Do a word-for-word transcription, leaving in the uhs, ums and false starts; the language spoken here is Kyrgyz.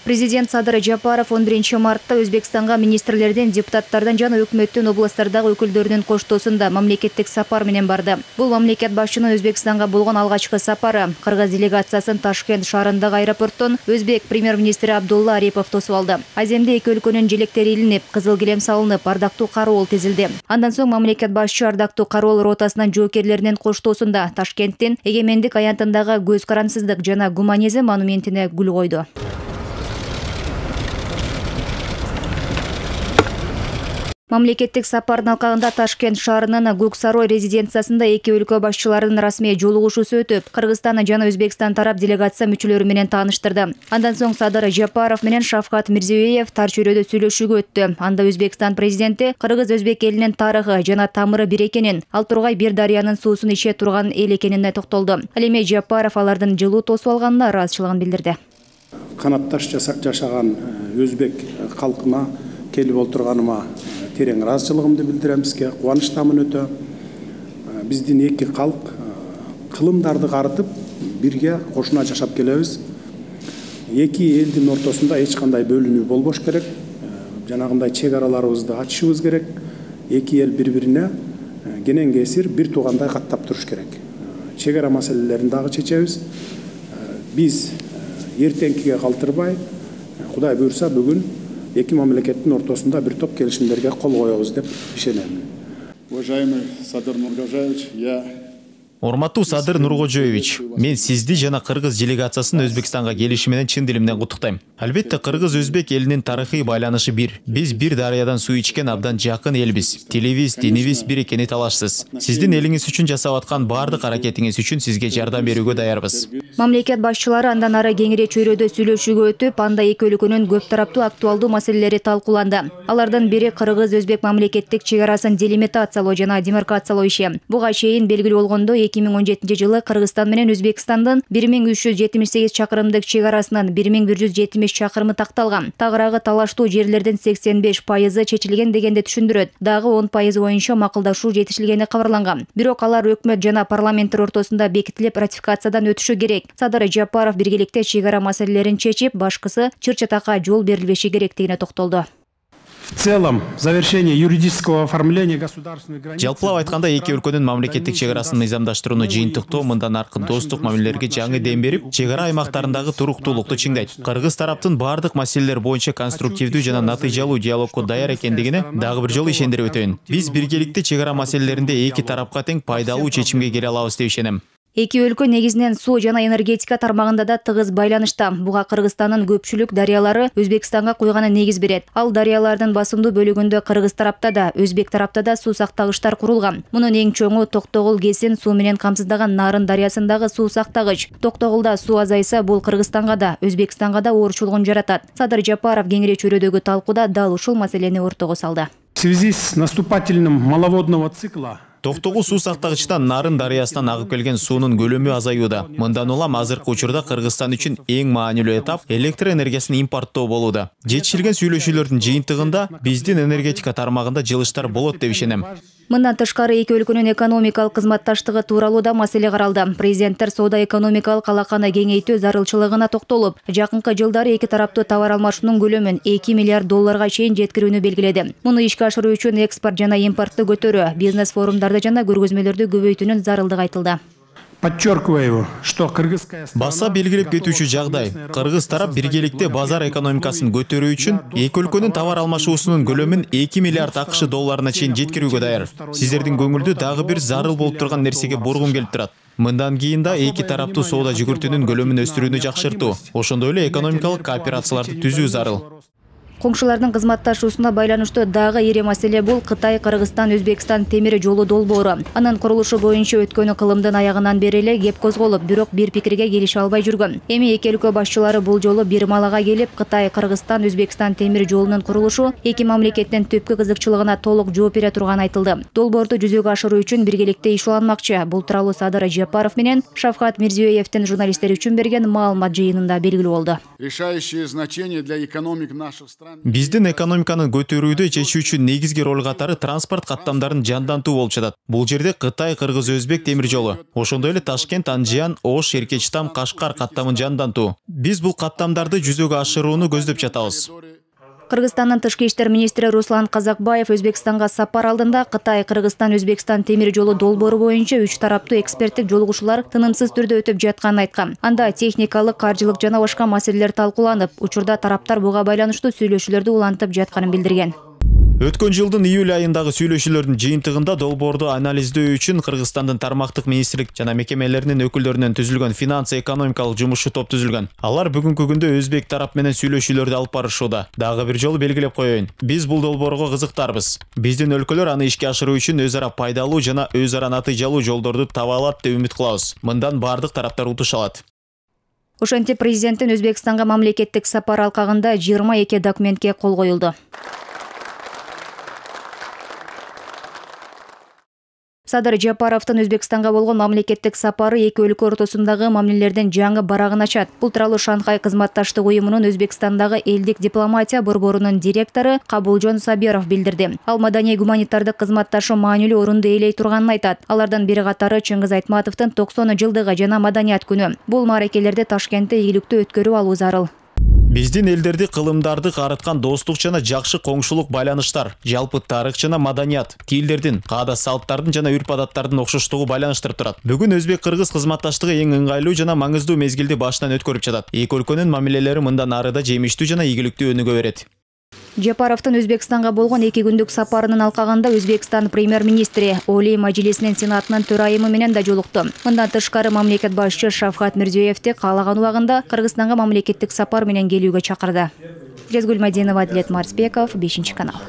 Президент Садыр Жапаров он биринчи мартта Өзбекстанга министрлерден, депутаттардан жана өкмөттүн областтардагы өкүлдөрүнүн коштоосунда мамлекеттик сапар менен барды. Бул мамлекет башчынын Өзбекстанга болгон алгачкы сапары. Кыргыз делегациясын Ташкент шаарындагы аэропорттон өзбек премьер-министри Абдулла Арипов тосуп алды. Аземде эки өлкөнүн желектери илинип, кызыл килем салынып, ардактуу кароол тизилди. Андан соң мамлекет башчы ардактуу кароол ротасынын жоокерлеринин коштоосунда Ташкенттин эгемендик аянтындагы көз карансыздык жана гуманизм монументине гүл койду. Мамлекеттик сапардын алкагында Ташкент шаарынын Көк Сарой резиденциясында эки өлкө башчыларынын расмий жолугушуусу өтүп, Кыргызстан жана Өзбекстан тарап делегация мүчөлөрү менен тааныштырды. Андан соң Садыр Жапаров менен Шавкат Мирзиёев тар чөйрөдө сүйлөшүүгө өттү. Анда Өзбекстан президенти кыргыз-өзбек элинин тарыхы жана тамыры бир экенин, ал тургай бир дарыянын суусун иче турган эл экенине токтолду. Ал эми Жапаров алардын жылуу тосуп алганына ыраазычылыгын билдирди. Канатташ жашаган өзбек калкына келип отурганыма терең ыраазычылыгымды билдирем. Бизге кубанычтамын өтө. Биздин эки калк кылымдарды карытып бирге кошуна жашап келебиз. Эки элдин ортосунда эч кандай бөлүнүү болбош керек. Жанагындай чек араларыбызды ачышыбыз керек. Эки эл бири-бирине кенен кесир бир туугандай каттап туруш керек. Чек ара маселелерин дагы чечебиз. Биз эртеңкиге калтырбай, Кудай буйрса бүгүн эки мамлекеттин ортосунда бир топ келишимдерге кол коебуз деп ишенем. Уважаемый Садыр Нургожаевич, я Урматтуу Садыр Нургожоевич, мен сизди жана кыргыз делегациясын Өзбекстанга келиши менен чын дилимден куттуктайм. Албетте кыргыз-өзбек элинин тарыхый байланышы бир. Биз бир дарыядан суу ичкен абдан жакын элбиз. Тилибиз, динибиз бир экени талашсыз. Сиздин элиңиз үчүн жасап аткан баардык аракетиңиз үчүн сизге жардам берүүгө даярбыз. Мамлекет башчылары андан ары кеңири чөйрөдө сүйлөшүүгө өтүп, анда эки өлкөнүн көп тараптуу актуалдуу маселелери талкууланды. Алардын бири кыргыз-өзбек мамлекеттик чек арасын делимитациялоо жана демаркациялоо иши. Буга чейин белгилүү болгондо эки миң он жетинчи жылы Кыргызстан менен Өзбекстандын бир миң үч жүз жетимиш сегиз чакырымдык чек арасынын бир миң бир жүз жетимиш чакырымы такталган. Тагыраагы талаштуу жерлердин сексен беш пайызы чечилген дегенди түшүндүрөт. Дагы он пайызы боюнча макулдашуу жетишилгени кабарланган. Бирок алар өкмөт жана парламенттер ортосунда бекитилип ратификациядан өтүшү керек. Садыр Жапаров биргеликте чек ара маселелерин чечип, башкысы чыр-чатакка жол берилбеши керектигине токтолду. В целом, завершение юридического оформления государственных границ. Жалпылап айтканда эки өлкөнүн мамлекеттик чек арасын мыйзамдаштырууну жыйынтыктоо мындан аркы достук мамилелерге жаңы дем берип, чек ара аймактарындагы туруктуулукту чыңдайт. Кыргыз тараптын баардык маселелер боюнча конструктивдүү жана натыйжалуу диалогко даяр экендигине дагы бир жолу ишендирип өтөйүн. Биз биргеликте чек ара маселелеринде эки тарапка тең пайдалуу чечимге келе алабыз деп ишенем. Эки өлкө негизинен суу жана энергетика тармагында да тыгыз байланышта. Буга Кыргызстандын көпчүлүк дарыялары Өзбекстанга куйганы негиз берет. Ал дарыялардын басымдуу бөлүгүндө Кыргыз тарапта да, Өзбек тарапта да суу сактагычтар курулган. Мунун эң чоңу Токтогул Кесин суу менен камсыздаган Нарын дарыясындагы суу сактагыч. Токтогулда суу азайса, бул Кыргызстанга да, Өзбекстанга да оорчулугун жаратат. Садыр Жапаров кеңири чөйрөдөгү талкууда дал ушул маселени ортого салды. В связи с наступательным маловодного цикла Токтогул суу сактагычтан Нарын дарыясынан агып келген суунун көлөмү азаюуда. Мындан улам азыркы учурда Кыргызстан үчүн эң маанилүү этап электр энергиясын импорттоо болууда. Жетишилген сүйлөшүүлөрдүн жыйынтыгында биздин энергетика тармагында жылыштар болот деп ишенем. Мындан тышкары эки өлкөнүн экономикалык кызматташтыгы тууралуу да маселе каралды. Президенттер соода экономикалык алаканы кеңейтүү зарылчылыгына токтолуп, жакынкы жылдары эки тараптуу товар алмашуунун көлөмүн эки миллиард долларга чейин жеткирүүнү белгиледи. Муну ишке ашыруу үчүн экспорт жана импортту көтөрүү, бизнес форумдарды жана көргөзмөлөрдү көбөйтүүнүн зарылдыгы айтылды. Подчеркиваю, что кыргызская Баса белгилеп кетүүчү жагдай. Кыргыз тарап биргеликте базар экономикасын көтөрүү үчүн эки өлкөнүн товар алмашуусунун көлөмүн эки миллиард акш долларына чейин жеткирүүгө даяр. Сиздердин көңүлдү дагы бир зарыл болуп турган нерсеге бургум келип турат. Мындан кийин да эки тараптуу соода жүгүртүүнүн көлөмүн өстүрүүнү жакшыртуу, ошондой эле экономикалык кооперацияларды түзүү зарыл. Коңшулардын кызматташуусуна байланыштуу дагы ири маселе бул Кытай, Кыргызстан, Өзбекстан темир жолу долбоору. Анын курулушу боюнча өткөн кылымдын аягынан бери эле кеп козголуп, бирок бир пикирге келише албай жүргөн. Эми эки өлкө башчылары бул жолу бир малага келип, Кытай, Кыргызстан, Өзбекстан темир жолунун курулушу эки мамлекеттин түпкү кызыкчылыгына толук жооп бере турганы айтылды. Долбоорду жүзөгө ашыруу үчүн биргеликте иш уланмакчы. Бул тууралуу Садыр Жапаров менен Шавкат Мирзиёевдин журналисттер үчүн берген маалымат жыйынында белгилүү болду. Решающее значение для экономик наших стран Биздин экономиканы көтөрүүдө чечүүчү негизги роль катары транспорт каттамдарын жандантуу болуп жатат. Бул жерде Кытай, Кыргыз, Өзбек темир жолу, ошондой эле Ташкент, Анжиян, Ош, Эркечтам, Кашкар каттамын жандантуу. Биз бул каттамдарды жүзөгө ашырууну көздөп жатабыз. Кыргызстандын тышкы иштер министри Руслан Казакбаев Өзбекстанга сапар алдында Кытай, Кыргызстан, Өзбекстан темир жолу долбоору боюнча үч тараптуу эксперттик жолугушуулар тынымсыз түрдө өтүп жатканын айткан. Анда техникалык, каржылык жана башка маселелер талкууланып, учурда тараптар буга байланыштуу сүйлөшүүлөрдү улантып жатканын билдирген. Өткөн жылдын июль айындагы сүйлөшүүлөрдүн жыйынтыгында долбоорду анализдөө үчүн Кыргызстандын тармактык министрлик жана мекемелеринин өкүлдөрүнөн түзүлгөн финансы экономикалык жумушчу топ түзүлгөн. Алар бүгүнкү күндө Өзбек тарап менен сүйлөшүүлөрдү алып барышууда. Дагы бир жолу белгилеп коеюн. Биз бул долбоорго кызыктарбыз. Биздин өлкөлөр аны ишке ашыруу үчүн өз ара пайдалуу жана өз ара натыйжалуу жолдорду таба алат деп үмүт кылабыз. Мындан бардык тараптар утуш алат. Ошентип президенттин Өзбекстанга мамлекеттик сапар алкагында жыйырма эки документке кол коюлду. Садыр Жапаровдун Өзбекстанга болгон мамлекеттик сапары эки өлкө ортосундагы мамилелердин жаңы барагын ачат. Бул тууралуу Шанхай кызматташтык уюмунун Өзбекстандагы элдик дипломатия борборунун директору Кабулжон Сабиров билдирди. Ал маданий гуманитардык кызматташуу маанилүү орунду ээлей турганын айтат. Алардын бири катары Чыңгыз Айтматовдун токсон жылдыгы жана маданият күнү. Бул мааракелерди Ташкентте ийгиликтүү өткөрүп алуу зарыл. Биздин элдерди кылымдарды карыткан достук жана жакшы коңшулук байланыштар, жалпы тарых жана маданият, тилдердин, каада салттардын жана үрп-адаттардын окшоштугу байланыштырып турат. Бүгүн Өзбек-Кыргыз кызматташтыгы эң ыңгайлуу жана маңыздуу мезгилди башынан өткөрүп жатат. Эки өлкөнүн мамилелери мындан ары да жемиштүү жана ийгиликтүү өнүгө берет. Жапаровдун Өзбекстанга болгон эки күндүк сапарынын алкагында Өзбекстан премьер-министри Олий Мажлисинин сенатынын төрайымы менен да жолукту. Мындан тышкары мамлекет башчы Шавкат Мирзиёевди каалаган убагында Кыргызстанга мамлекеттик сапар менен келүүгө чакырды. Жезгүл Мадинова, Адилет Марсбеков, бешинчи канал.